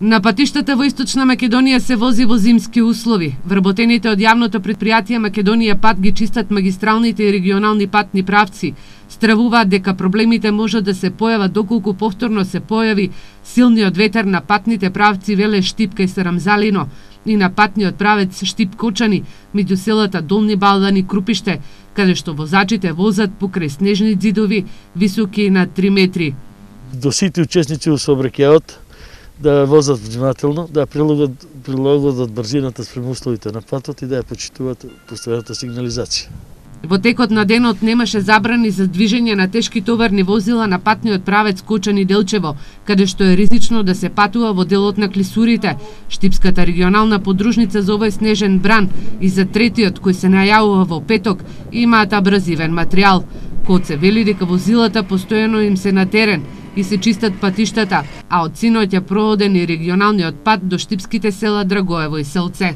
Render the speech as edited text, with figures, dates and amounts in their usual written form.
На патиштата во Источна Македонија се вози во зимски услови. Вработените од јавното претпријатие Македонија пат ги чистат магистралните и регионални патни правци. Стравуваат дека проблемите може да се појават доколку повторно се појави силниот ветер на патните правци Веле Штипка и Сарамзалино и на патниот правец Штип-Кочани меѓу селата Долни Балдан и Крупиште, каде што возачите возат покрај снежни ѕидови високи на 3 метри. До сите учесници во сообраќајот да возат внимателно, да прилагодат брзината спрема условите на патот и да ја почитуваат постојаната сигнализација. Во текот на денот немаше забрани за движење на тешки товарни возила на патниот правец Кочани-Делчево, каде што е ризично да се патува во делот на клисурите. Штипската регионална подружница за овој снежен бран и за третиот кој се најавува во петок имаат абразивен материјал. Коце вели дека возилата постојано им се на терен и се чистат патиштата, а од синоќ е проводен и регионалниот пат до штипските села Драгоево и Селце.